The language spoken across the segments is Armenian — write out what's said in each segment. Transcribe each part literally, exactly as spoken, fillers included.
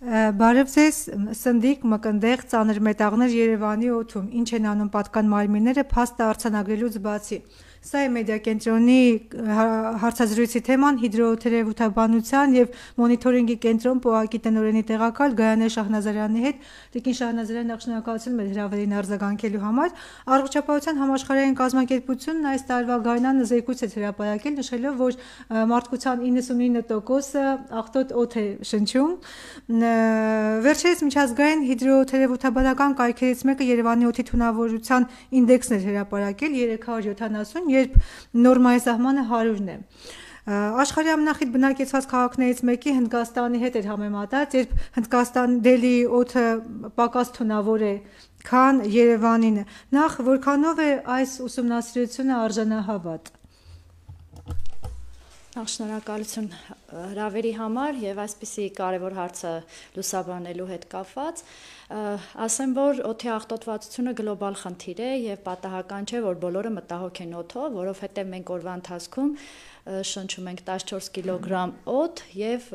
Բարև ձեզ, սնդիկ, մկնդեղ, ծանր մետաղներ Երևանի օդում, ինչ են անում պատկան մարմինները փաստը արձանագրելուց բացի։ Սա է մեդիա կենտրոնի հարցազրույցի թեման հիդրոթերապևտաբանության և մոնիթորինգի կենտրոն ՊՕԱԿ-ի տնօրենի տեղակալ Գայանե Շահնազարյանի հետ։ Տիկին Շահնազարյան, նախ շնորհակալություն մեր հրավերին արձագանքելու համար։ Առողջապահության համաշխարհային կազմակերպությունն այս տարվա գարնանը զեկույց է հրապարակել, նշելով, որ մարդկության իննսունինը տոկոսը աղտոտ օդ է շնչում։ Վերջերս միջազգային հիդրոթերապևտաբանական կայքերից մեկը Երևանի օդի թունավորության ինդեքսն էր հրապարակել երեք հարյուր յոթանասուն, երբ նորմայի սահմանը հարյուրն է։ Աշխարհի ամենախիտ բնակեցված քաղաքներից մեկի Հնդկաստանի հետ էր համեմատած, երբ Հնդկաստան Դելիի օդը պակաս թունավոր է, քան Երևանին։ Նախ որքանով է այս ուսումնասիրությունը արժանահավատ։ Նախ շնորհակալություն հրավերի համար եւ այսպիսի կարեւոր հարցը լուսաբանելու հետ կապված, ասեմ, որ օդի աղտոտվածությունը գլոբալ խնդիր է եւ պատահական չէ, որ բոլորը մտահոգ են օդով, որովհետեւ մենք օրվա ընթացքում շնչում ենք տասնչորս կիլոգրամ օդ եւ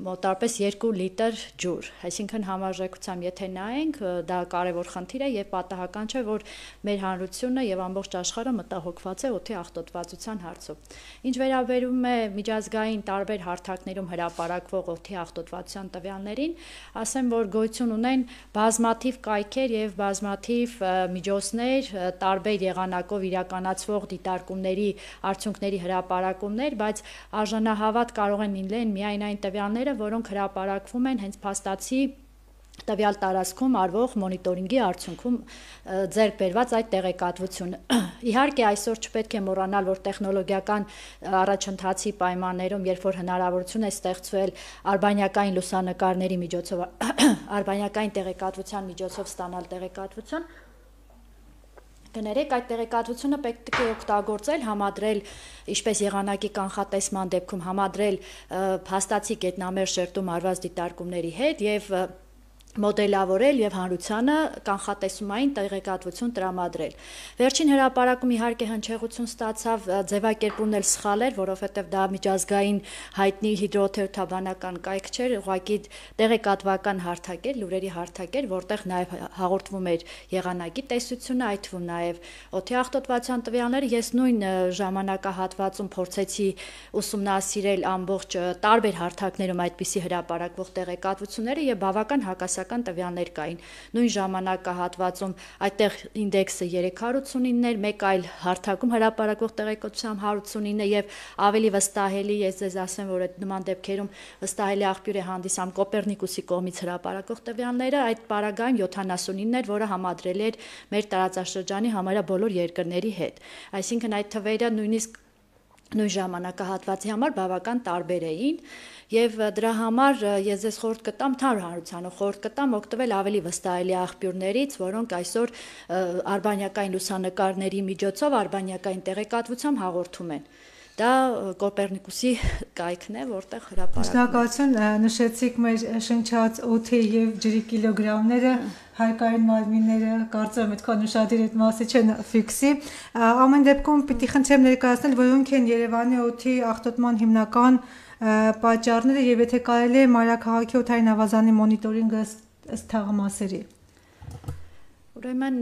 մոտավորապես երկու լիտր ջուր, այսինքն համարժեքությամբ եթե նայենք, դա կարևոր խնդիր է եւ պատահական չէ, որ մեր հանրությունը եւ ամբողջ աշխարհը մտահոգված է օդի աղտոտվածության հարցով։ Ինչ վերաբերում է միջազգային տարբեր հարթակներում հրապարակվող օդի աղտոտվածության տվյալներին, ասեմ, որ գոյություն ունեն բազմաթիվ կայքեր եւ բազմաթիվ միջոցներ, տարբեր եղանակով իրականացվող դիտարկումների արդյունքների հրապարակումներ, բայց արժանահավատ կարող են լինել միայն այն տվյալները, որոնք հրապարակվում են հենց փաստացի տվյալ տարածքում արվող մոնիտորինգի արդյունքում ձեռք բերված այդ տեղեկատվությունը։ Իհարկե այսօր չպետք է մոռանալ, որ տեխնոլոգիական առաջընթացի պայմաններում, երբ որ հնարավորություն է ստեղծվել արբանյակային լուսանկարների միջոցով, արբանյակային տեղեկատվության միջոցով ստանալ տեղեկատվություն, կներեք, այդ տեղեկատվությունը պետք է օգտագործել, համադրել, ինչպես եղանակի կանխատեսման դեպքում համադրել փաստացի գետնամերձ շերտում արված դիտարկումների հետ եւ մոդելավորել եւ հանրությանը կանխատեսումային տեղեկատվություն տրամադրել։ Վերջին հրապարակում իհարկե հնչեղություն ստացավ, ձևակերպումն էլ սխալ էր, որովհետեւ դա միջազգային հայտնի հիդրոթերապևտաբանական կայք չէր, ուղղակի տեղեկատվական հարթակ էր, լուրերի հարթակ էր, որտեղ նաեւ հաղորդվում էր եղանակի տեսությունը, այդ թվում նաեւ օդի աղտոտվածության տվյալները։ Ես նույն ժամանակահատվածում փորձեցի ուսումնասիրել ամբողջ տարբեր հարթակներում այդպիսի հրապարակվող տեղեկատվությունները եւ բավական հակասական տվյալներ կային։ Նույն ժամանակահատվածում այդտեղ ինդեքսը երեք հարյուր ութսունինն էր, մեկ այլ հարթակում հրապարակվող տեղեկատվությամբ հարյուր ութսունինը եւ ավելի վստահելի, ես ձեզ ասեմ, որ այդ նման դեպքերում վստահելի աղբյուր է հանդիսանում Կոպեռնիկուսի կողմից հրապարակվող տվյալները, այդ պարագայում յոթանասունինն էր, որը համադրել էր մեր տարածաշրջանի համարյա բոլոր երկրների հետ։ Այսինքն այդ թվերը նույնիսկ նույն ժամանակահատվածի համար բավական տարբեր էին եւ դրա համար ես ձեզ խորհուրդ կտամ թարմ հանրությանով խորհուրդ կտամ օգտվել ավելի վստահելի աղբյուրներից, որոնք այսօր արբանյակային լուսանկարների միջոցով արբանյակային տեղեկատվությամբ հաղորդում են։ Դա Կոպեռնիկուսի կայքն է, որտեղ հրապարակվում է։ Շնորհակալություն, նշեցիք մեր շնչած օդի եւ ջրի կիլոգրամները, հայկային մարմինները, կարծում եմ այդքան ուշադիր այդ մասը չեն ֆիքսի։ Ամեն դեպքում պիտի խնդրեմ ներկայացնել, որոնք են Երևանի օդի աղտոտման հիմնական պատճառները եւ եթե կարելի է մայրաքաղաքի օդային ավազանի մոնիտորինգը ըստ թաղամասերի։ Ուրեմն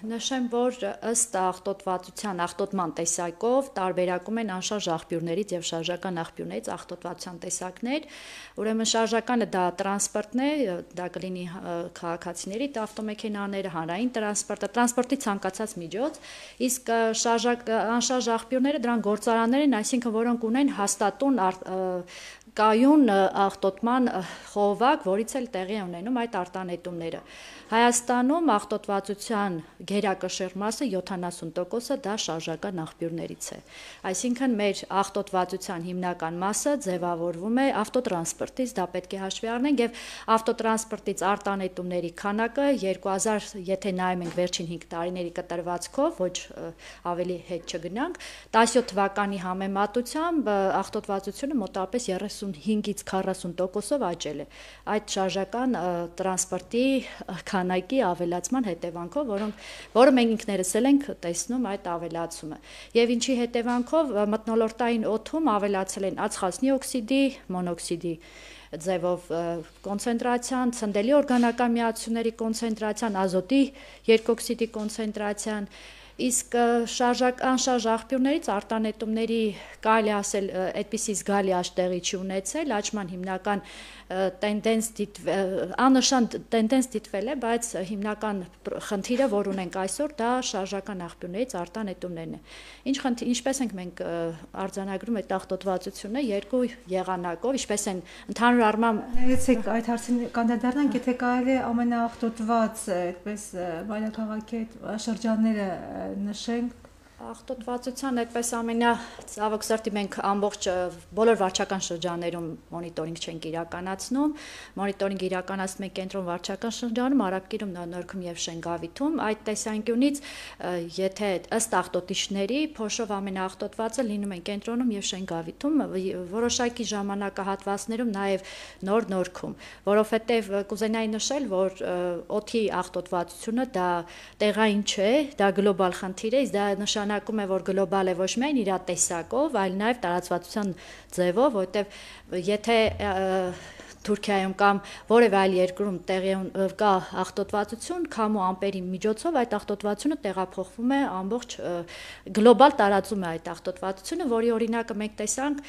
նշեմ, որ ըստ աղտոտվածության, աղտոտման տեսակով տարբերակում են անշարժ աղբյուրներից եւ շարժական աղբյուրներից աղտոտվածության տեսակներ։ Ուրեմն շարժականը դա տրանսպորտն է, դա կլինի քաղաքացիների ավտոմեքենաները, հանրային տրանսպորտը, տրանսպորտի ցանկացած միջոց, իսկ շարժակ անշարժ աղբյուրները դրանք գործարաններ են, այսինքն որոնք ունեն հաստատուն կայուն աղտոտման խողովակ, որից էլ տեղի ունենում այդ արտանետումները։ Հայաստանում աղտոտվածության գերակշիռ մասը յոթանասուն տոկոսը դա շարժական աղբյուրներից է։ Այսինքն մեր աղտոտվածության հիմնական մասը ձևավորվում է ավտոտրանսպորտից, դա պետք է հաշվի առնենք եւ ավտոտրանսպորտից արտանետումների քանակը երկու հազար, եթե նայում ենք վերջին հինգ տարիների կտրվածքով, ոչ ավելի հետ չգնանք, տասնյոթ թվականի համեմատությամբ աղտոտվածությունը մոտավորապես երեսունհինգից քառասուն տոկոսով աճել է։ Այդ շարժական տրանսպորտի քանակի ավելացման հետևանքով, որոնք որը մենք ինքներս էլ ենք տեսնում այդ ավելացումը։ Եվ ինչի հետևանքով մթնոլորտային օդում ավելացել են ածխածնի օքսիդի, մոնոքսիդի ձևով կոնցենտրացիան, ցնդելի օրգանական միացությունների կոնցենտրացիան, ազոտի երկօքսիդի կոնցենտրացիան, իսկ անշարժ աղբյուրներից արտանետումների կարելի ասել այդպիսի զգալի աճ տեղի չի ունեցել, աճման հիմնական տենդենս աննշան տենդենս դիտվել է, բայց հիմնական խնդիրը, որ ունենք այսօր, դա շարժական աղբյուրներից արտանետումներն է։ Ինչ խնդիր, ինչպես ենք մենք արձանագրում այդ աղտոտվածությունը երկու եղանակով, ինչպես են ընդհանուր առմամբ ներեցեք այդ հարցին կանդրադառնանք, եթե կարելի է ամենաաղտոտված այդպես մայրաքաղաքի շրջանները նշենք։ Աղտոտվածության այդպես ամենածավոք սրտի մենք ամբողջ բոլոր վարչական շրջաններում մոնիտորինգ չենք իրականացնում, մոնիտորինգ իրականացնում ենք կենտրոն վարչական շրջանում, Արաբկիրում, Նորքում եւ Շենգավիթում, այդ տեսանկյունից եթե ըստ աղտոտիչների փոշով ամենաաղտոտվածը լինում են կենտրոնում եւ Շենգավիթում, որոշակի ժամանակահատվածներում նաեւ Նոր Նորքում, որովհետեւ կուզենայի նշել, որ օդի աղտոտվածությունը դա տեղային չէ, դա գլոբալ խնդիր է, դա նշանակում է, որ գլոբալ է ոչ միայն իր տեսակով, այլ նաև տարածվածության ձևով, որովհետև եթե Թուրքիայում կամ որևէ այլ երկրում տեղի կա աղտոտվածություն, քամու ամպերի միջոցով այդ աղտոտվածությունը տեղափոխվում է ամբողջ գլոբալ տարածում է այդ աղտոտվածությունը, որի օրինակը մենք տեսանք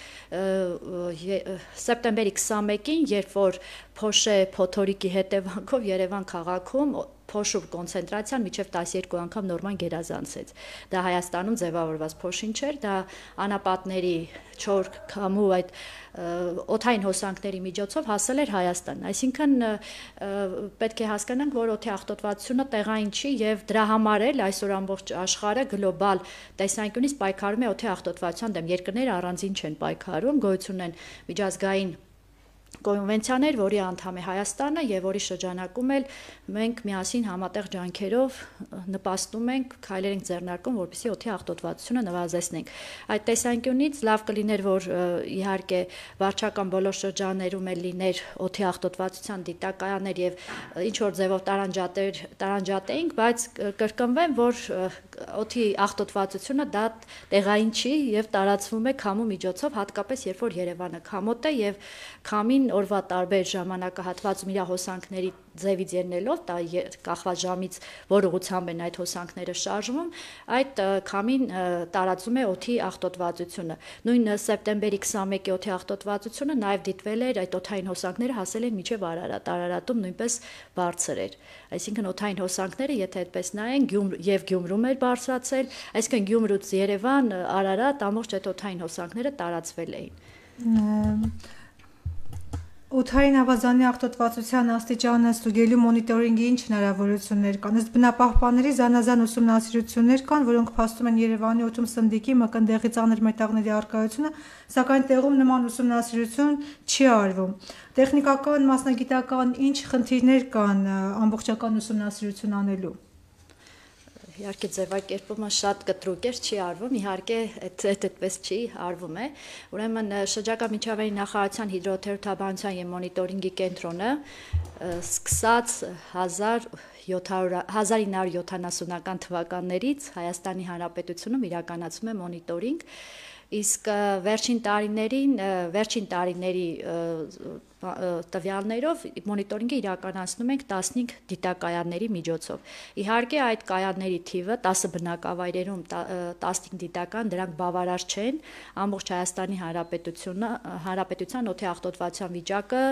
սեպտեմբերի քսանմեկին, երբ որ Փոշե փոթորիկի հետևանքով Երևան քաղաքում փոշու կոնցենտրացիան մինչև տասներկու անգամ նորման գերազանցեց։ Դա Հայաստանում ձևավորված փոշին չէր, դա անապատների չոր քամու այդ օդային հոսանքների միջոցով հասել էր Հայաստան։ Այսինքն պետք է հասկանանք, որ օդի աղտոտվածությունը տեղային չի եւ դրա համար էլ այսօր ամբողջ աշխարհը գլոբալ տեսանկյունից պայքարում է օդի աղտոտվածության դեմ։ Երկրները առանձին չեն պայքարում, գոյություն ունեն միջազգային կոնվենցիաներ, որի անդամ է Հայաստանը եւ որի շրջանակում էլ մենք միասին համատեղ ջանքերով նպաստում ենք, քայլեր ենք ձեռնարկում, որպեսզի օդի աղտոտվածությունը նվազեցնենք։ Այդ տեսանկյունից լավ կլիներ, որ իհարկե վարչական բոլոր շրջաններում էլ լիներ օդի աղտոտվածության դիտակայաններ եւ ինչ որ ձևով տարանջատեր տարանջատեինք, բայց կրկնվեմ, որ օդի աղտոտվածությունը դա տեղային չի եւ տարածվում է քամու միջոցով, հատկապես երբ որ Երևանը քամոտ է եւ քամին օրվա տարբեր ժամանակահատվածում իր հոսանքների ձևից ելնելով, դա կախված ժամից, որ ուղղությամբ են այդ հոսանքները շարժվում, այդ քամին տարածում է օդի աղտոտվածությունը։ Նույն սեպտեմբերի քսանմեկի օդի աղտոտվածությունը նաև դիտվել էր, այդ օդային հոսանքները հասել են մինչև Արարատ, Արարատում նույնպես բարձր էր։ Այսինքն օդային հոսանքները, եթե այդպես նայենք, եւ Գյումրում էր բարձրացել, այսինքն Գյումրուց Երևան, Արարատ, ամբողջ այդ օդային հոսանքները տարածվել էին։ Օդային ավազանի աղտոտվածության աստիճանը ստուգելու մոնիտորինգի ինչ հնարավորություններ կան։ Ըստ բնապահպանների զանազան ուսումնասիրություններ կան, որոնք փաստում են Երևանի օդում սնդիկի, մկնդեղի ծանր մետաղների առկայությունը, սակայն տեղում նման ուսումնասիրություն չի արվում։ Տեխնիկական, մասնագիտական ինչ խնդիրներ կան ամբողջական ուսումնասիրություն անելու։ Իհարկե ձևակերպումը շատ կտրուկ էր, չի արվում, իհարկե այդպես չի արվում է։ Ուրեմն շրջակա միջավայրի նախարարության հիդրոթերապևտաբանության եւ մոնիտորինգի կենտրոնը սկսած հազար ինը հարյուր յոթանասունական թվականներից Հայաստանի Հանրապետությունում իրականացում է մոնիտորինգ, իսկ վերջին տարիներին, վերջին տարիների տվյալներով մոնիտորինգը իրականացնում ենք տասնհինգ դիտակայանների միջոցով։ Իհարկե այդ կայանների թիվը տասը բնակավայրերում տասնհինգ դիտական, դրանք բավարար չեն, ամբողջ Հայաստանի Հանրապետությունը, Հանրապետության օդի աղտոտվածության վիճակը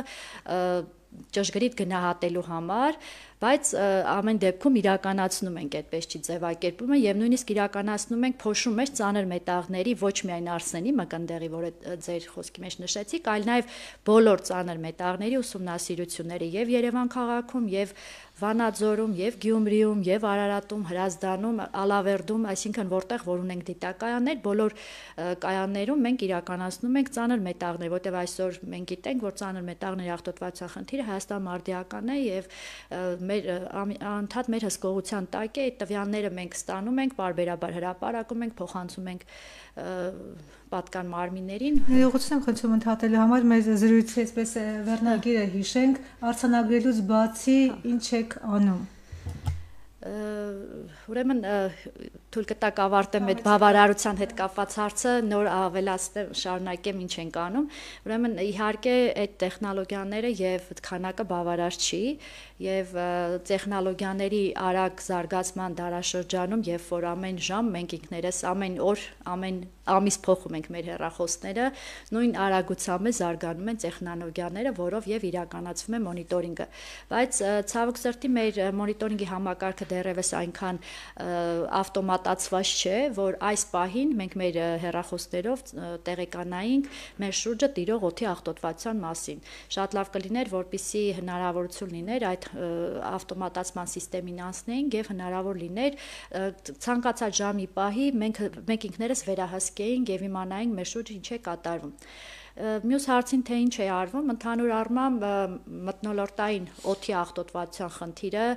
ճշգրիտ գնահատելու համար, բայց ամեն դեպքում իրականացնում ենք այդպես չի ձևակերպումը եւ նույնիսկ իրականացնում ենք փոշու մեջ ծանր մետաղների ոչ միայն արսենի, մկնդեղի, որը ձեր խոսքի մեջ նշեցիք, այլ նաեւ բոլոր ծանր մետաղների ուսումնասիրությունները եւ Երևան քաղաքում եւ Վանաձորում եւ Գյումրիում եւ Արարատում, Հրազդանում, Ալավերդում, այսինքն որտեղ որ ունենք դիտակայաններ, բոլոր կայաններում մենք իրականացնում ենք ծանր մետաղներ, որտեղ այսօր մենք գիտենք, որ ծանր մետաղների աղտոտվածության խնդիրը Հայաստան մարդիական է եւ մեր անդադ մեր հսկողության տակ է, այդ տվյալները մենք ստանում ենք, բարբերաբար հրապարակում ենք, փոխանցում ենք պատկան մարմիններին։ Ներողություն եմ խնդրում ընդհատելու համար, մեր զրույցի այսպես վերնագիրը հիշենք, արձանագրելուց բացի ինչ եք անում։ Ուրեմն թույլ կտակ ավարտեմ այդ բավարարության հետ կապված հարցը, նոր ավելացնեմ, շարունակեմ ինչ ենք անում։ Ուրեմն իհարկե այդ տեխնոլոգիաները եւ քանակը բավարար չի, եւ տեխնոլոգիաների արագ զարգացման դարաշրջանում, երբ որ ամեն ժամ մենք ինքներս ամեն օր, ամեն ամիս փոխում ենք մեր հեռախոսները, նույն արագությամբ է զարգանում են տեխնոլոգիաները, որով եւ իրականացվում է մոնիտորինգը։ Բայց ցավոք սրտի մեր մոնիտորինգի համակարգը դեռևս այնքան ավտոմատացված չէ, որ այս պահին մենք մեր հեռախոսներով տեղեկանայինք մեր շուրջը տիրող օդի աղտոտվածության մասին։ Շատ լավ կլիներ, որպեսզի հնարավորություն լիներ այդ ավտոմատացման համակարգին անցնեինք եւ հնարավոր լիներ ցանկացած ժամի պահի մենք մենք ինքներս վերահսկեինք եւ իմանայինք մեր շուրջը ինչ է կատարվում։ Մյուս հարցին թե ինչ է արվում, ընդհանուր առմամբ մթնոլորտային օդի աղտոտվածության խնդիրը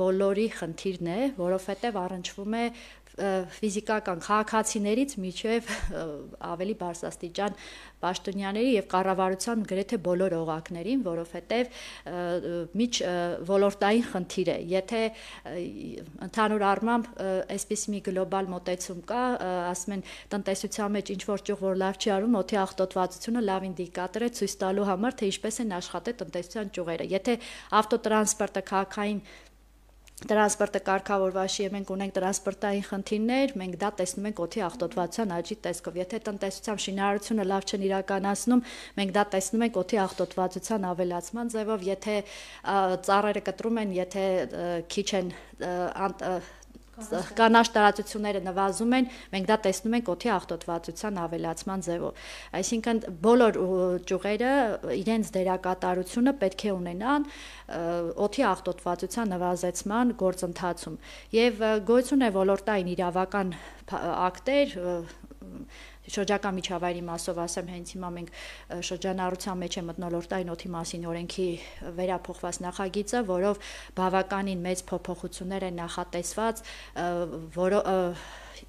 բոլորի խնդիրն է, որովհետև առնչվում է ֆիզիկական քաղաքացիներից մինչև ավելի բարձրաստիճան պաշտոնյաների եւ կառավարության գրեթե բոլոր օղակներին, որովհետեւ միջ ոլորտային խնդիր է։ Եթե ընդհանուր առմամբ այսպես մի գլոբալ մոտեցում կա, ասում են տնտեսության մեջ ինչ որ ճյուղ որ լավ չի արվում, օդի աղտոտվածությունը լավ ինդիկատոր է ցույց տալու համար, թե ինչպես են աշխատել տնտեսության ճյուղերը։ Եթե ավտոտրանսպորտը քաղաքային տրանսպորտը կարգավորված չի, մենք ունենք տրանսպորտային խնդիրներ, մենք դա տեսնում ենք օդի աղտոտվածության աճի տեսքով։ Եթե տնտեսության շինարարությունը լավ չեն իրականացնում, մենք դա տեսնում ենք օդի աղտոտվածության ավելացման ձևով, եթե ծառերը կտրում են, եթե քիչ են կանաչ տարածությունները նվազում են, մենք դա տեսնում ենք օդի աղտոտվածության ավելացման ձևով։ Այսինքն բոլոր ճյուղերը իրենց դերակատարությունը պետք է ունենան օդի աղտոտվածության նվազեցման գործընթացում։ Եվ գոյություն է ոլորտային իրավական ակտեր, շրջակա միջավայրի մասով ասեմ, հենց հիմա մենք շրջանառության մեջ է մթնոլորտային օդի մասին օրենքի վերափոխված նախագիծը, որով բավականին մեծ փոփոխություններ են նախատեսված, որը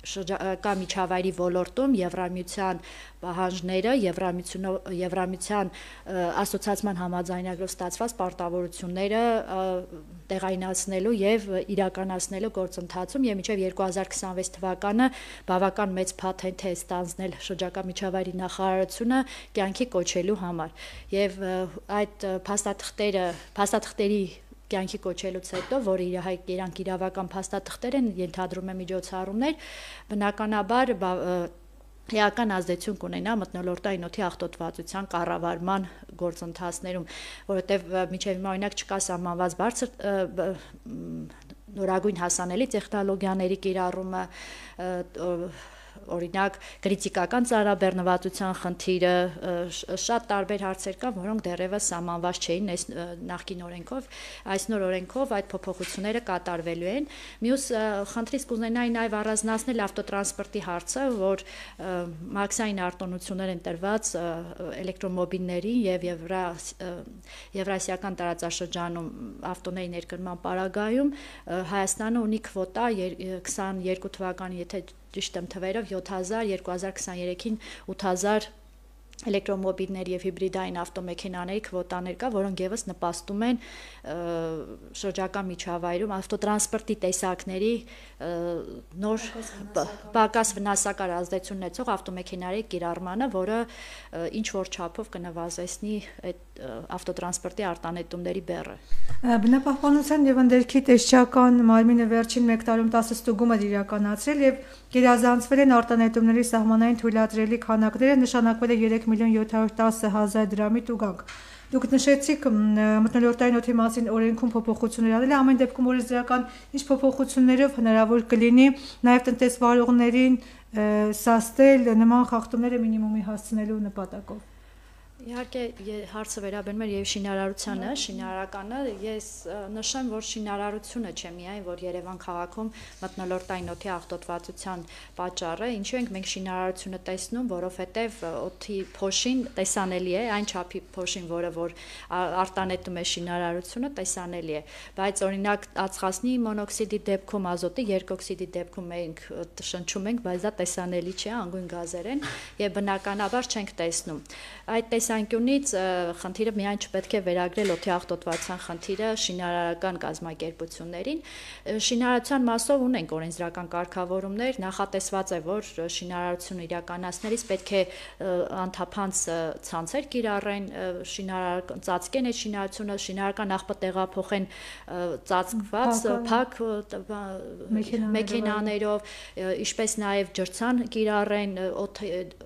շրջակա միջավայրի ոլորտում Եվրամիության պահանջները, Եվրամիության ասոցիացիան համաձայնագրով ստացված պարտավորությունները տեղայնացնելու եւ իրականացնելու գործընթացում եւ մինչեւ երկու հազար քսանվեց թվականը բավական մեծ փաթեթ է ստանձնել շրջակա միջավայրի նախարարությունը կյանքի կոչելու համար։ Եվ այդ փաստաթղթերը, փաստաթղթերի կյանքի կոչելուց հետո, որը իրանք իրավական փաստաթղթեր են, ենթադրում է միջոցառումներ, բնականաբար էական ազդեցություն կունենա մթնոլորտային օդի աղտոտվածության կառավարման գործընթացներում, որովհետև մինչև հիմա օրինակ չկա սահմանված բարձր նորագույն հասանելի տեխնոլոգիաների կիրառումը, օրինակ քրիտիկական ծառաբեռնվածության խնդիրը, շատ տարբեր հարցեր կան, որոնք դեռևս սահմանված չէին այս նախկին օրենքով, այս նոր օրենքով այդ փոփոխությունները կատարվելու են։ Մյուս խնդրից կուզենայի նաև առանձնացնել ավտոտրանսպորտի հարցը, որ մաքսային արտոնություններ են տրված էլեկտրոմոբիլների եւ եվրասիական տարածաշրջանում ավտոների ներկրման պարագայում Հայաստանը ունի քվոտա քսաներկու թվականին, եթե ճիշտ եմ թվերով, յոթ հազար, երկու հազար քսաներեքին ութ հազար էլեկտրոմոբիլների եւ հիբրիդային ավտոմեքենաների քվոտաներ կա, որոնք եւս նպաստում են շրջակա միջավայրում ավտոտրանսպորտի տեսակների նոր պակաս վնասակար ազդեցություն ունեցող ավտոմեքենաների կիրառմանը, որը ինչ որ չափով կնվազեցնի այդ ավտոտրանսպորտի արտանետումների բեռը։ Բնապահպանության եւ ընդերքի տեսչական մարմինը վերջին մեկ տարում տասը ստուգում է իրականացրել եւ գերազանցվել են արտանետումների սահմանային թույլատրելի քանակները, նշանակվել է երեք միլիոն յոթ հարյուր տասը հազար դրամի տուգանք։ Դուք նշեցիք մթնոլորտային օդի մասին օրենքում փոփոխություններ անել, ամեն դեպքում օրենսդրական ինչ փոփոխություններով հնարավոր կլինի նաև տնտեսվարողներին սաստել նման խախտումները մինիմումի հասցնելու նպատակով։ Իհարկե հարցը վերաբերում է եւ շինարարությանը, շինարարականը, ես նշեմ, որ շինարարությունը չէ միայն, որ Երևան քաղաքում մթնոլորտային օդի աղտոտվածության պատճառը, ինչու ենք մենք շինարարությունը տեսնում, որովհետեւ օդի փոշին տեսանելի է, այն չափի փոշին, որը որ արտանետում է շինարարությունը, տեսանելի է, բայց օրինակ ածխածնի մոնոքսիդի դեպքում, ազոտի երկօքսիդի դեպքում մենք շնչում ենք, բայց դա տեսանելի չէ, անգույն գազեր են եւ բնականաբար չենք տեսնում։ Այդ տեսանկյունից խնդիրը միայն չպետք է վերագրել օդի աղտոտվածության խնդիրը շինարարական կազմակերպություններին։ Շինարարության մասով ունենք օրենսդրական կարգավորումներ, նախատեսված է, որ շինարարությունը իրականացնելիս պետք է անթափանց ցանցեր կիրառեն, շինարարական ծածկեն այդ շինարարությունը, շինարարական նախ տեղափոխեն ծածկված փակ մեքենաներով, ինչպես նաև ջրցան կիրառեն,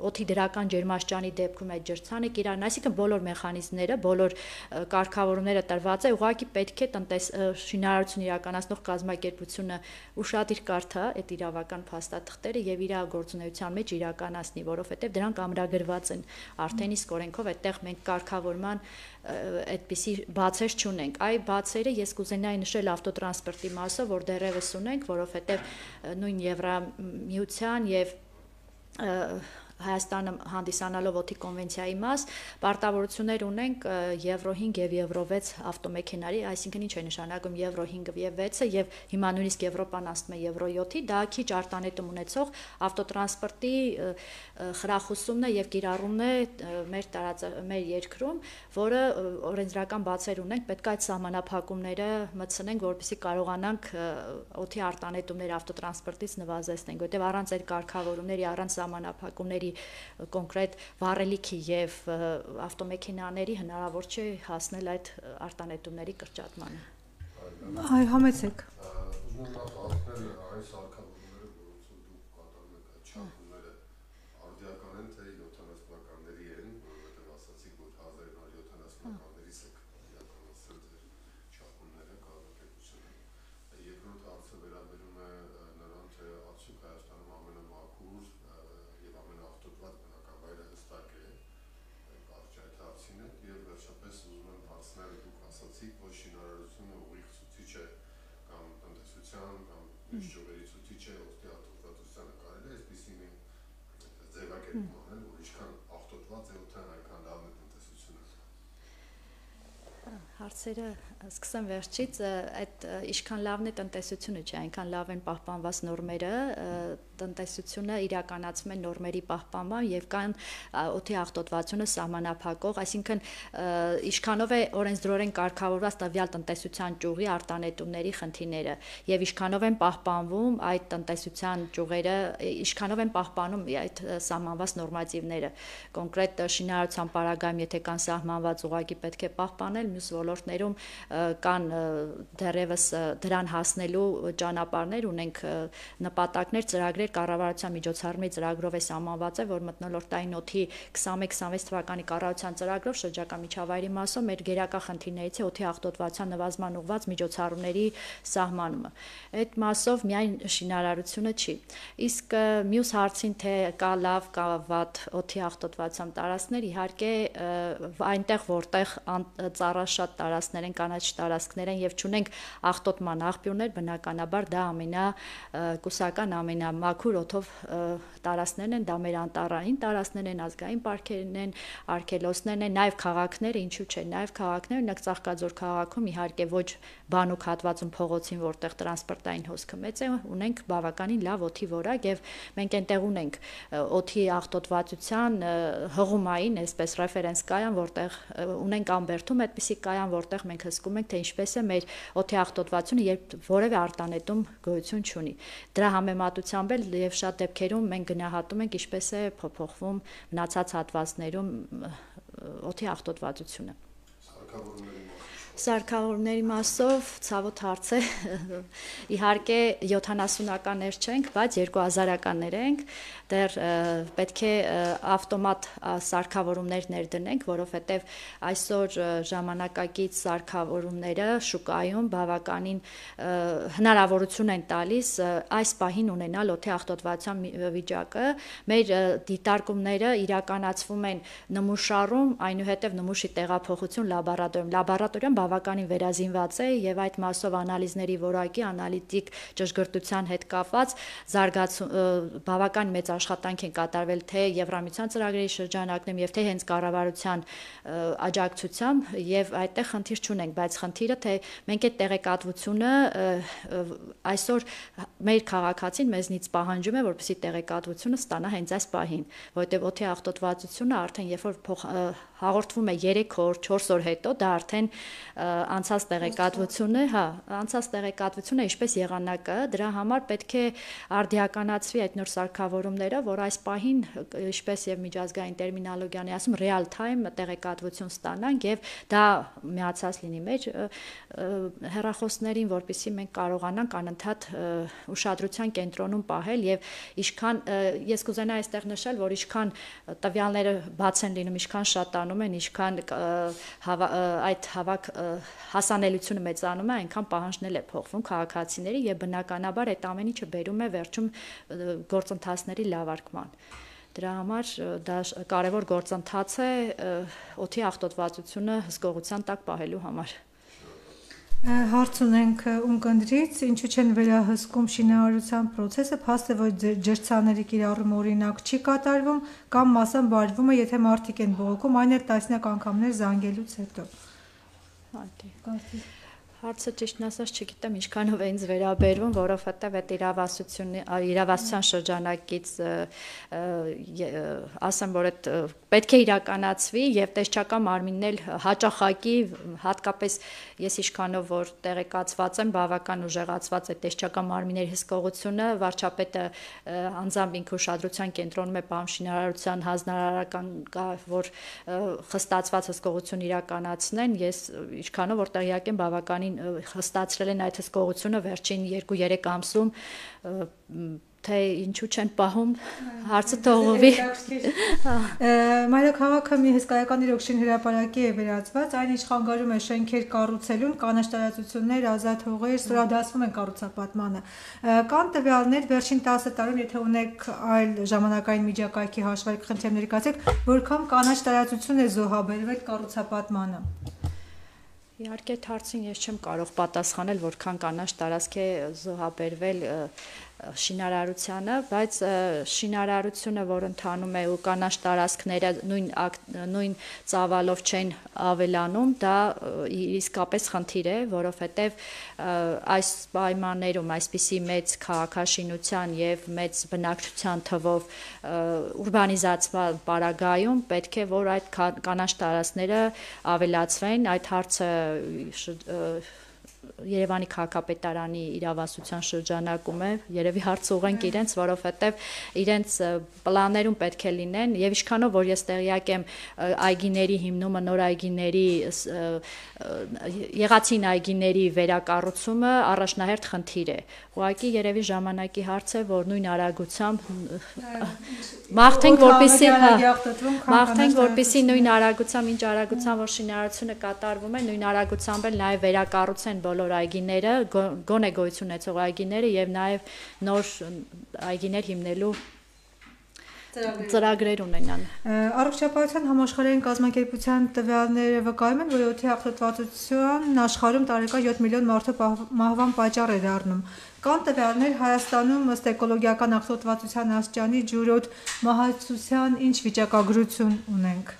օդի դրական ջերմաստիճանի դեպքում այդ ջրցանը կիրառեն, այսինքն բոլոր մեխանիզմները, բոլոր կարգավորումները տրված է, ուղղակի պետք է տնտես շինարարություն իրականացնող կազմակերպությունը ուշադիր կարդա այդ իրավական փաստաթղթերը եւ իր գործունեության մեջ իրականացնի, որովհետեւ դրանք ամրագրված են արդեն իսկ օրենքով, այդտեղ մենք կարգավորման այդպիսի բացեր չունենք։ Այ բացերը ես կուզենայի նշել ավտոտրանսպորտի մասով, որ դեռևս ունենք, որովհետեւ նույն Եվրամիության եւ Հայաստանը հանդիսանալով օդի կոնվենցիայի մաս, պարտավորություններ ունենք եվրո հինգ եւ եվրո վեց ավտոմեքենաների, այսինքն ինչ է նշանակում եվրո հինգը եւ վեցը եւ հիմա նույնիսկ Եվրոպան ասում է եվրո յոթի, դա քիչ արտանետում ունեցող ավտոտրանսպորտի խրախուսումն է եւ կիրառումն է մեր տարած մեր երկրում, որը օրենսդրական բացեր ունենք, պետք է այդ սահմանափակումները մտցնենք, որպեսզի կարողանանք օդի արտանետումները ավտոտրանսպորտից նվազեցնենք, որտեղ առանց այդ կարգավորումների, առանց սահմանափակումների կոնկրետ վառելիքի եւ ավտոմեքենաների հնարավոր չէ հասնել այդ արտանետումների կրճատմանը։ Այ համեցեք։ Ուզում եմ ասել, այս արկածները, որոնցով դուք կատարում եք այդ չափումները, արդիական են թե յոթանասուն թվականների են, որովհետեւ ասացիք, որ հազար իննսուն յոթանասուն թվականներից եք իրականացրել ձեր չափումները կազմակերպությունը։ Երկրորդ հարցը վերաբերում է նրան, թե արդյոք Հայաստանում ամենամաքուր եւ ամենաաղտոտված բնակավայրը հստակ է, կարճ այդ հարցին է, եւ վերջապես ուզում եմ հարցնել, դուք ասացիք, որ շինարարությունը ուղիղ ցուցիչ է կամ տնտեսության կամ միջջողերի ցուցիչ է օդի աղտոտվածությանը, կարելի է այսպիսի մի ձևակերպում անել, որ ինչքան աղտոտված է օդը, այնքան լավ է տնտեսությունը։ Հարցերը սկսեմ վերջից, այդ ինչքան լավն է տնտեսությունը, չէ, այնքան լավ են պահպանված նորմերը, տնտեսությունը իրականացում է նորմերի պահպանման եւ կան օդի աղտոտվածությունը սահմանափակող, այսինքն ինչքանով է օրենսդրորեն կարգավորված տվյալ տնտեսության ճյուղի արտանետումների խնդիրները եւ ինչքանով են պահպանվում այդ տնտեսության ճյուղերը, ինչքանով են պահպանում այդ սահմանված նորմատիվները, կոնկրետ շինարարության պարագայում, եթե կան սահմանված, ուղղակի պետք է պահպանել, մյուս ոլորտներում կան դեռևս դրան հասնելու ճանապարհներ, ունենք նպատակներ, ծրագրեր, կառավարության միջոցառումների ծրագրով է սահմանված է, որ մթնոլորտային օդի քսանմեկ քսանվեց թվականի կառավարության ծրագրով շրջակա միջավայրի մասով մեր գերակա խնդիրներից է օդի աղտոտվածության նվազման ուղղված միջոցառումների սահմանումը։ Այդ մասով միայն շինարարությունը չի։ Իսկ մյուս հարցին, թե կա լավ, կա վատ օդի աղտոտվածության տարածքներ, իհարկե այնտեղ, որտեղ ծառաշատ տարածքներ են, կանաչ տարածքներ են եւ չունենք աղտոտման աղբյուրներ, բնականաբար դա ամենակուսական, ամենամաքուր օդով տարածքներն են, դա մեր անտառային տարածքներն են, ազգային պարկերն են, արգելոցներն են, նաեւ քաղաքները, ինչու՞ չէ, նաեւ քաղաքները, օրինակ Ծաղկաձոր քաղաքում իհարկե ոչ բանուկ հատվածում փողոցին, որտեղ տրանսպորտային հոսքը մեծ է, ունենք բավականին լավ օդի որակ եւ մենք այնտեղ ունենք օդի աղտոտվածության հղումային, այսպես ռեֆերենս կայան, որտեղ ունենք Ամբերդում այդպիսի կայան, որտեղ մենք հսկում ենք, թե ինչպես է մեր օդի աղտոտվածությունը, երբ որևէ արտանետում գոյություն չունի։ Դրա համեմատությամբ էլ եւ շատ դեպքերում մենք գնահատում ենք, ինչպես է փոփոխվում մնացած հատվածներում օդի աղտոտվածությունը։ Սարքավորումների մասով ցավոտ հարց է, իհարկե յոթանասունականներ չենք, բայց երկու հազարականներ ենք, դեռ պետք է ավտոմատ սարքավորումներ ներդնենք, որովհետև այսօր ժամանակակից սարքավորումները շուկայում բավականին հնարավորություն են տալիս այս պահին ունենալ օդի աղտոտվածության վիճակը, մեր դիտարկումները իրականացվում են նմուշարում, այնուհետև նմուշի տեղափոխություն լաբորատորիայում, լաբորատորիան բավականին վերազինված է եւ այդ մասով անալիզների որակի անալիտիկ ճշգրտության հետ կապված զարգացում բավական մեծ աշխատանք են կատարվել թե Եվրամիության ծրագրերի շրջանակներում եւ թե հենց կառավարության աջակցությամբ եւ այդտեղ խնդիր չունենք, բայց խնդիրը թե մենք այդ տեղեկատվությունը այսօր մեր քաղաքացին մեզնից պահանջում է, որպեսզի տեղեկատվությունը ստանա հենց այս պահին, որովհետեւ օդի աղտոտվածությունը արդեն երբ որ հաղորդվում է երեք օր, չորս օր հետո, դա արդեն անցած տեղեկատվությունը, հա, անցած տեղեկատվությունը ինչպես եղանակը, դրա համար պետք է արդիականացվի այդ նոր սարքավորումները, որ այս պահին, ինչպես եւ միջազգային տերմինոլոգիան է ասում, real time տեղեկատվություն ստանանք եւ դա միացած լինի մեր հեռախոսներին, որպեսզի մենք կարողանանք անընդհատ ուշադրության կենտրոնում պահել եւ ինչքան ես կուզենայի այստեղ նշել, որ ինչքան տվյալները բաց են լինում, ինչքան շատանում են, ինչքան այդ հավաք հասանելիությունը մեծանում է, այնքան պահանջն է փոխվում քաղաքացիների եւ բնականաբար այդ ամեն ինչը բերում է վերջում գործընթացների լավարկման։ Դրա համար դա կարևոր գործընթաց է օդի աղտոտվածությունը հսկողության տակ պահելու համար։ Հարց ունենք ունկնդրից, ինչու չեն վերահսկում շինարարության process-ը, փաստ է, որ ջրցաների կիրառումը օրինակ չի կատարվում կամ մասամբ բարվում է, եթե մարդիկ են բողոքում, այն էլ տասնյակ անգամներ զանգելուց հետո։ Հարցը ճիշտն ասած չգիտեմ ինչքանով է ինձ վերաբերվում, որովհետև այդ իրավասություն իրավասության շրջանակից ասեմ, որ այդ պետք է իրականացվի եւ տեսչական մարմինն էլ հաճախակի հատկապես ես ինչքանով որ տեղեկացված եմ, բավական ուժեղացված է տեսչական մարմինների հսկողությունը, վարչապետը անձամբ ինքը ուշադրության կենտրոնում է պահում շինարարության հանձնարարական որ խստացված հսկողություն իրականացնեն, ես ինչքանով որ տեղյակ եմ բավականին խստացրել են այդ հսկողությունը վերջին երկու-երեք ամսում թե ինչու չեն պահում հարցը թողովի Մայրաքաղաքը մի հսկայական իրոքշին հրապարակի է վերածված, այն ինչ խանգարում է շենքեր կառուցելուն, կանաչ տարածություններ, ազատ հողեր, ստորադասվում են կառուցապատմանը։ Կան տվյալներ վերջին տասը տարում, եթե ունեք այլ ժամանակային միջակայքի հաշվարկ խնդիր ներկայացեք, որքան կանաչ տարածություն է զոհաբերվել կառուցապատմանը։ Իհարկե այդ հարցին ես չեմ կարող պատասխանել, որքան կանաչ տարածք է զոհաբերվել շինարարությանը, բայց շինարարությունը, որ ընթանում է ու կանաչ տարածքները նույն նույն ծավալով չեն ավելանում, դա իսկապես խնդիր է, որովհետև այս պայմաններում այսպիսի մեծ քաղաքաշինության եւ մեծ բնակչության թվով ուրբանիզացված պարագայում պետք է որ այդ կանաչ տարածքները ավելացվեն, այդ հարցը Երևանի քաղաքապետարանի իրավասության շրջանակում է, երևի հարց ուղենք իրենց, որովհետև իրենց պլաններում պետք է լինեն եւ ինչքանով որ ես տեղյակ եմ այգիների հիմնումը, նոր այգիների եղածին այգիների վերակառուցումը առաջնահերթ խնդիր է։ Ուղղակի երևի ժամանակի հարց է, որ նույն արագությամբ մաղթենք որպեսզի մաղթենք որպեսզի նույն արագությամբ, ինչ արագությամբ որ շինարարությունը կատարվում է, նույն արագությամբ էլ նաեւ վերակառուցեն բոլոր այգիները, գոնե գոյություն ունեցող այգիները եւ նաեւ նոր այգիներ հիմնելու ծրագրեր ունենան։ Առողջապահության համաշխարհային կազմակերպության տվյալները վկայում են, որ օդի աղտոտվածությունն աշխարհում տարեկան յոթ միլիոն մարդու մահվան պատճառ է դառնում։ Կան տվյալներ Հայաստանում ըստ էկոլոգիական աղտոտվածության աստիճանի ջուրօդ մահացության ինչ վիճակագրություն ունենք։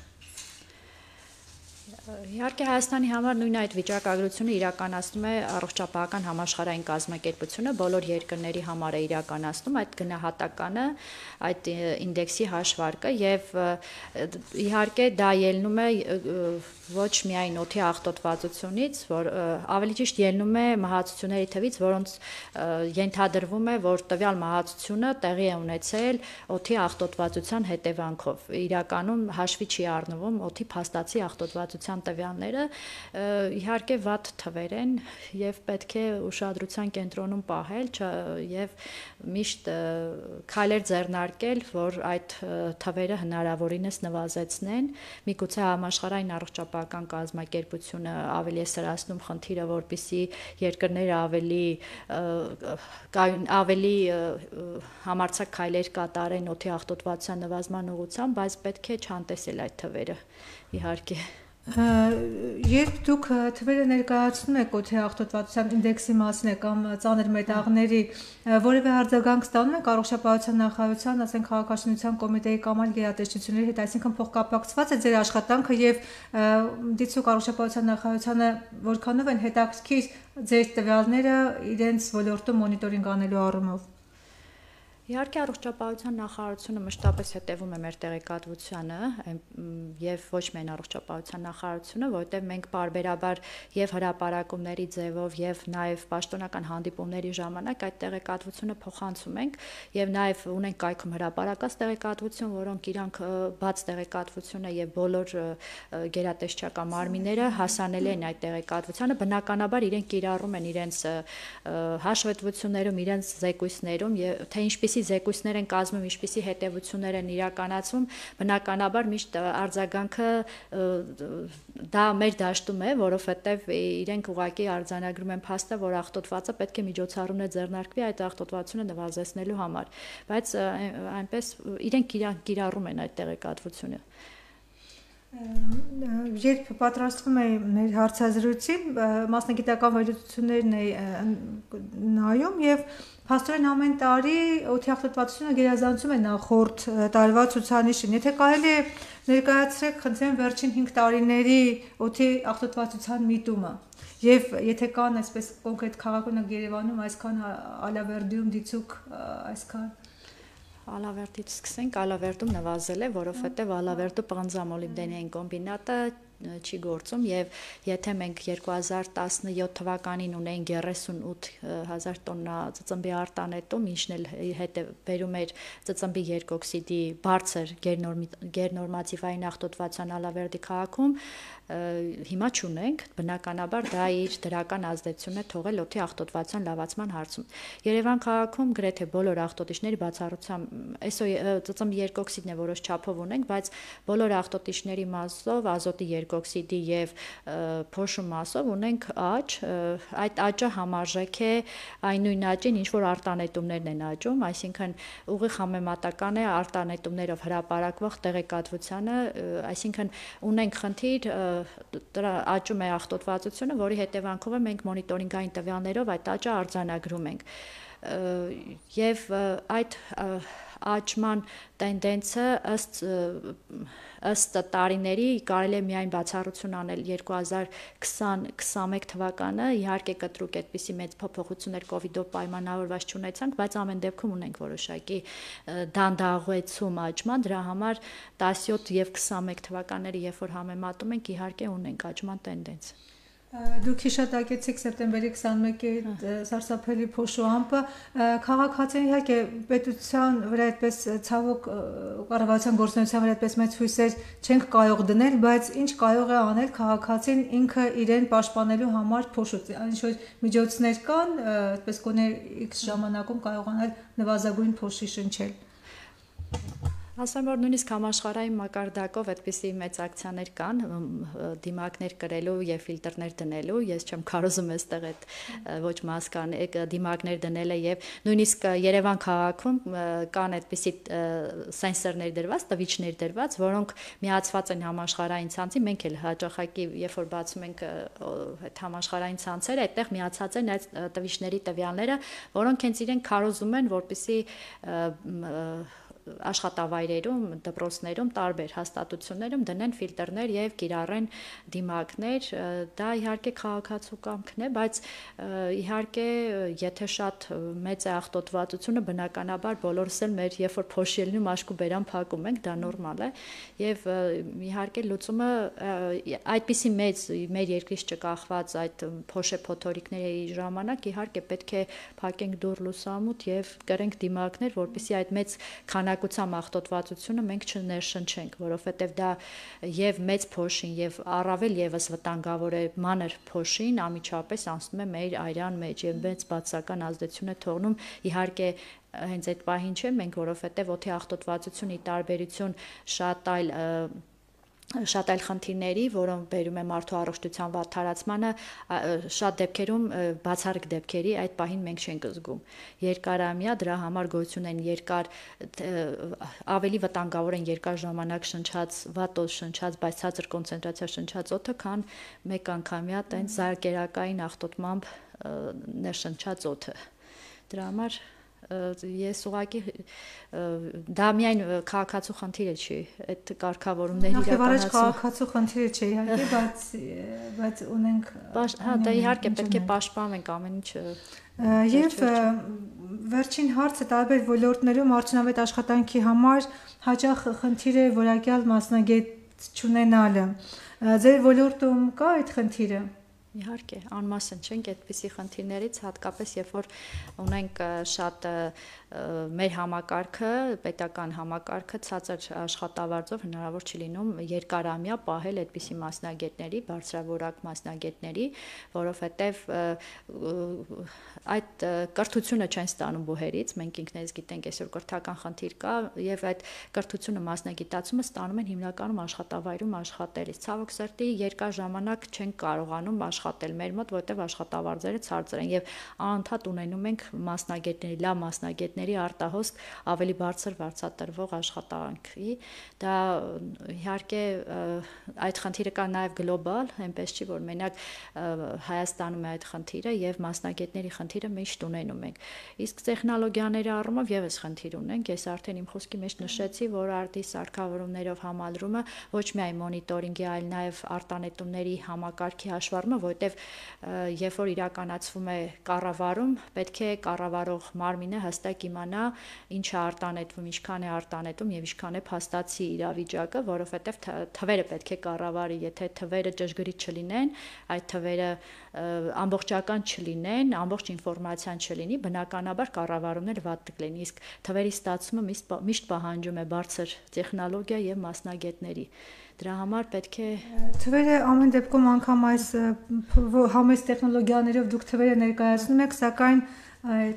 Իհարկե Հայաստանի համար նույն այդ վիճակագրությունը իրականացնում է առողջապահական համաշխարհային կազմակերպությունը, բոլոր երկրների համար է իրականացնում այդ գնահատականը, այդ ինդեքսի հաշվարկը եւ իհարկե դա ելնում է ոչ միայն օդի աղտոտվածությունից, որ ավելի ճիշտ ելնում է մահացությունների թվից, որոնց ենթադրվում է, որ տվյալ մահացությունը տեղի է ունեցել օդի աղտոտվածության հետևանքով։ Իրականում հաշվի չի առնվում օդի փաստացի աղտոտվածության տվյալները, իհարկե վատ թվեր են եւ պետք է ուշադրության կենտրոնում պահել եւ միշտ քայլեր ձեռնարկել, որ այդ թվերը հնարավորինս նվազեցնեն։ Միգուցե համաշխարհային առողջապահական կազմակերպությունը ավելի է սրացնում խնդիրը, որպեսզի երկրները ավելի ավելի համարձակ քայլեր կատարեն օդի աղտոտվածության նվազման ուղղությամբ, բայց պետք է չանտեսել այդ թվերը, իհարկե։ Երբ դուք թվերը ներկայացնում եք օդի աղտոտվածության ինդեքսի մասին կամ ծանր մետաղների, որևէ արձագանք ստանում եք առողջապահության նախարարության, ասենք քաղաքաշինության կոմիտեի կամ այլ գերատեսչությունների հետ, այսինքն փոխկապակցված է ձեր աշխատանքը եւ դիցուկ առողջապահության նախարարությանը որքանով են հետաքրքիր ձեր տվյալները իրենց ոլորտում մոնիտորինգ անելու առումով։ Իհարկե առողջապահության նախարարությունը մշտապես հետևում է մեր տեղեկատվությանը եւ ոչ միայն առողջապահության նախարարությունը, որովհետեւ մենք պարբերաբար եւ հրապարակումների ձևով եւ նաեւ պաշտոնական հանդիպումների ժամանակ այդ տեղեկատվությունը փոխանցում ենք եւ նաեւ ունենք կայքում հրապարակած տեղեկատվություն, որոնք իրանք բաց տեղեկատվությունը եւ բոլոր գերատեսչական մարմինները հասանելի են այդ տեղեկատվությանը, բնականաբար իրենք կիրառում են իրենց հաշվետվություններում, իրենց զեկույցներում եւ թե ինչպես զեկույցներ են կազմում, ինչպիսի հետևություններ են իրականացում, բնականաբար միշտ արձագանքը դա մեր դաշտում է, որովհետև իրենք ուղղակի արձանագրում են փաստը, որ աղտոտվածը պետք է միջոցառումներ ձեռնարկվի այդ աղտոտվածությունը նվազեցնելու համար, բայց այնպես իրենք կիրառում են այդ տեղեկատվությունը։ Երբ պատրաստվում էի մեր հարցազրույցի, մասնագիտական վերլուծություններն էի նայում եւ փաստորեն ամեն տարի օդի աղտոտվածությունը գերազանցում է նախորդ տարվա ցուցանիշին։ Եթե կարելի է ներկայացրեք, խնդրեմ, վերջին հինգ տարիների օդի աղտոտվածության միտումը եւ եթե կան այսպես կոնկրետ քաղաքօրինակ Երևանում այսքան Ալավերդիում դիցուկ այսքան Ալավերդից սկսենք, Ալավերդում նվազել է, որովհետև Ալավերդու պղնձամոլիբդենային կոմբինատը չի գործում եւ եթե մենք երկու հազար տասնյոթ թվականին ունեինք երեսունութ հազար տոննա ծծմբի արտանետում, ինչն էլ հետ բերում էր ծծմբի երկօքսիդի բարձր գերնորմատիվային աղտոտվածության Ալավերդի քաղաքում, հիմա չունենք, բնականաբար դա իր դրական ազդեցությունն է թողել օդի աղտոտվածության լավացման հարցում։ Երևան քաղաքում գրեթե բոլոր աղտոտիչների բացառությամբ այսօր ծծմբի երկօքսիդն է որոշ չափով ունենք, բայց բոլոր աղտոտիչների մասով ազոտի երկօքսիդի եւ փոշու մասով ունենք աճ, այդ աճը համարժեք է այն նույն աճին, ինչ որ արտանետումներն են աճում, այսինքն ուղիղ համեմատական է արտանետումներով հրապարակվող տեղեկատվությանը, այսինքն ունենք խնդիր աճում է աղտոտվածությունը, որի հետևանքով է մենք մոնիտորինգային տվյալներով այդ աճը արձանագրում ենք եւ այդ աճման տենդենսը ըստ ըստ տարիների կարելի է միայն բացառություն անել երկու հազար քսան քսանմեկ թվականը, իհարկե կտրուկ այդպիսի մեծ փոփոխություններ կովիդով պայմանավորված չունեցանք, բայց ամեն դեպքում ունենք որոշակի դանդաղեցում աճման, դրա համար տասնյոթ եւ քսանմեկ թվականների երբ որ համեմատում ենք, իհարկե ունենք աճման տենդենս։ Դուք հիշատակեցիք սեպտեմբերի քսանմեկի սարսափելի փոշու ամպը, քաղաքացին իհարկե պետության վրա այդպես ցավոք կառավարության գործունեության վրա այդպես մեծ հույսեր չենք կարող դնել, բայց ինչ կարող է անել քաղաքացին ինքը իրեն պաշտպանելու համար փոշուց, ինչ որ միջոցներ կան, այդպես գոնե X ժամանակում կարողանալ նվազագույն փոշի շնչել։ Ասեմ, որ նույնիսկ համաշխարհային մակարդակով այդպիսի մեծ ակցիաներ կան, դիմակներ կրելու եւ ֆիլտրներ դնելու, ես չեմ կարողում այստեղ այդ ոչ մասկան դիմակներ դնելը եւ նույնիսկ Երևան քաղաքում կան այդպիսի սենսորներ դրված, տվիչներ դրված, որոնք միացված են համաշխարհային ցանցի, մենք էլ հաճախակի երբ որ բացում ենք այդ համաշխարհային ցանցերը, այդտեղ միացած են այդ տվիչների տվյալները, որոնք հենց իրենք քարոզում են, որպեսզի աշխատավայրերում, դպրոցներում, տարբեր հաստատություններում դնեն ֆիլտրներ եւ կիրառեն դիմակներ, դա իհարկե քաղաքացու կամքն է, բայց իհարկե եթե շատ մեծ է աղտոտվածությունը, բնականաբար բոլորս էլ մեր երբ որ փոշի ելնում աշկու բերան փակում ենք, դա նորմալ է եւ իհարկե լուծումը այդպիսի մեծ մեր երկրից չկախված այդ փոշե փոթորիկների ժամանակ իհարկե պետք է փակենք դուռ լուսամուտ եւ կրենք դիմակներ, որպեսզի այդ մեծ քանակ աղտոտվածությունը մենք չներշնչենք, որովհետև դա եւ մեծ փոշին եւ առավել եւս վտանգավոր է մանր փոշին անմիջապես անցնում է մեր արյան մեջ եւ մեծ բացական ազդեցություն է թողնում, իհարկե հենց այդ պահին չէ մենք, որովհետև օդի աղտոտվածությունը ի տարբերություն շատ այլ շատ այլ խնդիրների, որոնք բերում է մարդու առողջության վատթարացմանը, շատ դեպքերում բացառիկ դեպքերի այդ պահին մենք չենք զգում։ Երկարամյա դրա համար գոյություն են երկար ավելի վտանգավոր են երկար ժամանակ շնչած վատոց շնչած, բայց ցածր կոնցենտրացիա շնչած օդը, քան մեկ անգամյա տենց զարկերակային աղտոտմամբ ներշնչած օդը։ Դրա համար ես ուղղակի դա միայն քաղաքացու խնդիրը չի, այդ կարգավորումների իրականացումը քաղաքացու խնդիրը չէ, իհարկե, բայց բայց ունենք հա, դա իհարկե պետք է պաշտպանենք ամեն ինչը։ Եվ վերջին հարցը տարբեր ոլորտներում արդյունավետ աշխատանքի համար հաճախ խնդիր է որակյալ մասնագետ չունենալը։ Ձեր ոլորտում կա այդ խնդիրը։ Իհարկե, անմասն չենք այդպիսի խնդիրներից, հատկապես երբ որ ունենք շատ մեր համակարգը, պետական համակարգը ցածր աշխատավարձով հնարավոր չի լինում երկարամյա պահել այդպիսի մասնագետների, բարձրավորակ մասնագետների, որովհետև այդ կրթությունը չեն ստանում բուհերից, մենք ինքներս գիտենք այսօր կրթական խնդիր կա եւ այդ կրթությունը մասնագիտացումը ստանում են հիմնականում աշխատավայրում աշխատելիս։ Ցավոք սրտի երկար ժամանակ չեն կարողանում աշխատել մեր մոտ, որտեղ աշխատավարձերը ցածր են եւ անընդհատ ունենում ենք մասնագետների, լավ մասնագետների արտահոսք ավելի բարձր վարձատրվող աշխատանքի։ Դա իհարկե այդ խնդիրը կա նաեւ գլոբալ, այնպես չի որ մենակ Հայաստանում է այդ խնդիրը եւ մասնագետների խնդիրը միշտ ունենում ենք։ Իսկ տեխնոլոգիաների առումով եւս խնդիր ունենք։ Ես արդեն իմ խոսքի մեջ նշեցի, որ արդի սարքավորումներով համալրումը ոչ միայն մոնիտորինգի, այլ նաեւ արտանետումների համակարգի հաշվառումը, որտեղ երբ որ իրականացվում է կառավարում, պետք է կառավարող մարմինը հստակ իմանա ինչ է արտանետվում, ինչքան է արտանետում եւ ինչքան է փաստացի իրավիճակը, որովհետեւ թվերը պետք է կառավարի, եթե թվերը ճշգրիտ չլինեն, այդ թվերը ամբողջական չլինեն, ամբողջ ինֆորմացիան չլինի, բնականաբար կառավարումները վատ կլինի, իսկ թվերի ստացումը միշտ պահանջում է բարձր տեխնոլոգիա եւ մասնագետների։ Դրա համար պետք է թվերը ամեն դեպքում անգամ այս համես տեխնոլոգիաներով դուք թվերը ներկայացնում եք, սակայն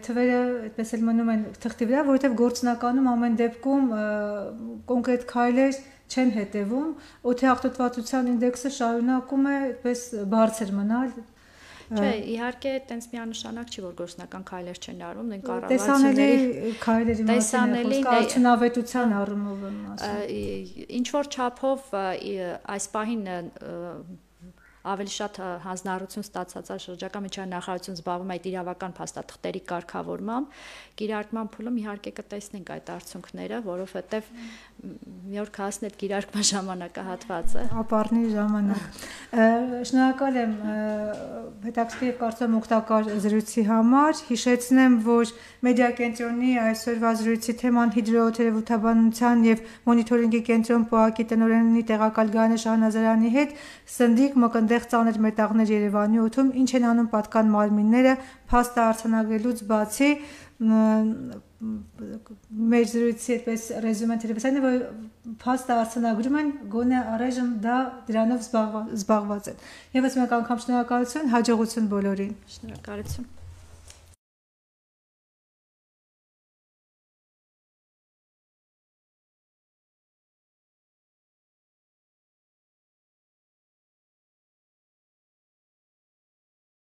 թվերը այդպես էլ մնում են թղթի վրա, որովհետև գործնականում ամեն դեպքում կոնկրետ քայլեր չեն հետևում, օդի աղտոտվածության ինդեքսը շարունակում է այդպես բարձր մնալ։ Չէ, իհարկե, տենց միանշանակ չի, որ գործնական քայլեր չեն արվում, դեն կառավարությունների քայլերի մասին է խոսքը, արդյունավետության առումով եմ ասում։ Ինչ որ չափով այս պահին ավելի շատ հանձնառություն ստացած շրջակա միջազգային նախարարություն զբաղվում է այդ իրավական փաստաթղթերի կարգավորմամբ, կիրարկման փուլում իհարկե կտեսնենք այդ արդյունքները, որովհետև մի օր կհասնի այդ կիրարկման ժամանակահատվածը։ Ապառնի ժամանակ։ Շնորհակալ եմ հետաքրքիր կարծեմ օգտակար զրույցի համար։ Հիշեցնեմ, որ մեդիա կենտրոնի այսօրվա զրույցի թեման հիդրոթերապևտաբանության եւ մոնիտորինգի կենտրոն ՊՕԱԿ-ի տնօրենի տեղակալ Գայանե Շահնազարյանի հետ սնդիկ մկնդեղ ծանր մետաղներ Երևանի օդում, ինչ են անում պատկան մարմինները փաստը արձանագրելուց բացի մեր զրույցի այդպես ռեզյումեն թերևս այն է, որ փաստը արձանագրում են, գոնե առայժմ դա դրանով զբաղված են։ Եվս մեկ անգամ շնորհակալություն, հաջողություն բոլորին։ Շնորհակալություն։